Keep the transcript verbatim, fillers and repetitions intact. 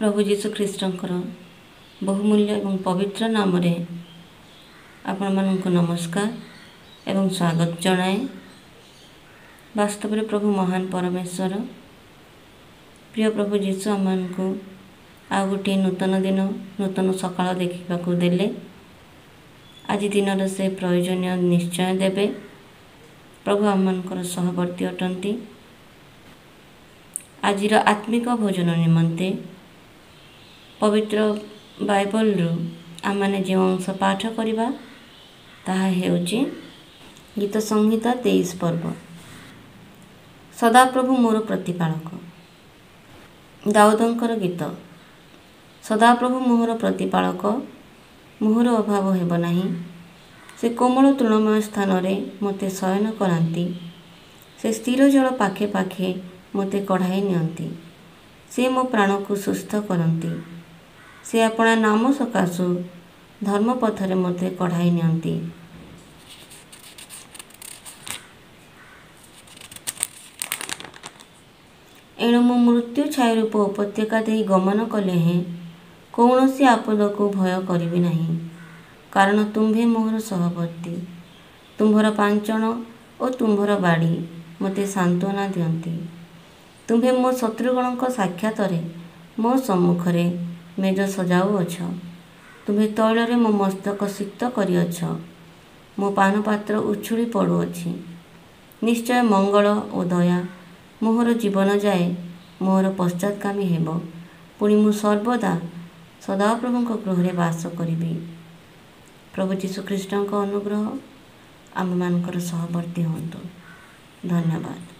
ପ୍ରଭୁ ଯୀଶୁ ଖ୍ରୀଷ୍ଟଙ୍କର ବହୁମୂଲ୍ୟ ଏବଂ ପବିତ୍ର ନାମରେ ଆପଣମାନଙ୍କୁ ନମସ୍କାର ଏବଂ ସ୍ୱାଗତ ଜଣାଏ। ବାସ୍ତବରେ ପ୍ରଭୁ ମହାନ ପରମେଶ୍ୱର। ପ୍ରିୟ ପ୍ରଭୁ ଯୀଶୁ ଆମମାନଙ୍କୁ ଆଉ ଗୋଟିଏ ନୂତନ ଦିନ, ନୂତନ ସକାଳ ଦେଖିବାକୁ ଦେଲେ। ଆଜି ଦିନର ସେ ପ୍ରୟୋଜନୀୟ ନିଶ୍ଚୟ ଦେବେ। ପ୍ରଭୁ ଆମମାନଙ୍କର ସହବର୍ତ୍ତୀ ଅଟନ୍ତି। ଆଜିର ଆତ୍ମିକ ଭୋଜନ ନିମନ୍ତେ ପବିତ୍ର ବାଇବଲରୁ ଆମମାନେ ଯେଉଁ ଅଂଶ ପାଠ କରିବା, ତାହା ହେଉଛି ଗୀତ ସଂହିତା ତେଇଶ ପର୍ବ। ସଦାପ୍ରଭୁ ମୋର ପ୍ରତିପାଳକ। ଦାଉଦଙ୍କର ଗୀତ। ସଦାପ୍ରଭୁ ମୋହର ପ୍ରତିପାଳକ, ମୋହର ଅଭାବ ହେବ ନାହିଁ। ସେ କୋମଳ ତୃଣମୟ ସ୍ଥାନରେ ମୋତେ ଶୟନ କରାନ୍ତି। ସେ ସ୍ଥିର ଜଳ ପାଖେ ପାଖେ ମୋତେ କଢ଼ାଇ ନିଅନ୍ତି। ସେ ମୋ ପ୍ରାଣକୁ ସୁସ୍ଥ କରନ୍ତି। ସେ ଆପଣା ନାମ ସକାଶୁ ଧର୍ମପଥରେ ମୋତେ କଢ଼ାଇ ନିଅନ୍ତି। ଏଣୁ ମୁଁ ମୃତ୍ୟୁ ଛାୟାରୂପ ଉପତ୍ୟକା ଦେଇ ଗମନ କଲେ ହେଁ କୌଣସି ଆପଦକୁ ଭୟ କରିବି ନାହିଁ, କାରଣ ତୁମ୍ଭେ ମୋହର ସହବର୍ତ୍ତୀ। ତୁମ୍ଭର ପାଞ୍ଚଣ ଓ ତୁମ୍ଭର ବାଡ଼ି ମୋତେ ସାନ୍ତ୍ୱନା ଦିଅନ୍ତି। ତୁମ୍ଭେ ମୋ ଶତ୍ରୁଗଣଙ୍କ ସାକ୍ଷାତରେ ମୋ ସମ୍ମୁଖରେ ମେଜ ସଜାଉଅଛ। ତୁମ୍ଭେ ତୈଳରେ ମୋ ମସ୍ତକ ସିକ୍ତ କରିଅଛ। ମୋ ପାନପାତ୍ର ଉଛୁଳି ପଡ଼ୁଅଛି। ନିଶ୍ଚୟ ମଙ୍ଗଳ ଓ ଦୟା ମୋହର ଜୀବନ ଯାଏ ମୋହର ପଶ୍ଚାତ୍ଗାମୀ ହେବ, ପୁଣି ମୁଁ ସର୍ବଦା ସଦାପ୍ରଭୁଙ୍କ ଗୃହରେ ବାସ କରିବି। ପ୍ରଭୁ ଯୀଶୁଖ୍ରୀଷ୍ଟଙ୍କ ଅନୁଗ୍ରହ ଆମମାନଙ୍କର ସହବର୍ତ୍ତୀ ହୁଅନ୍ତୁ। ଧନ୍ୟବାଦ।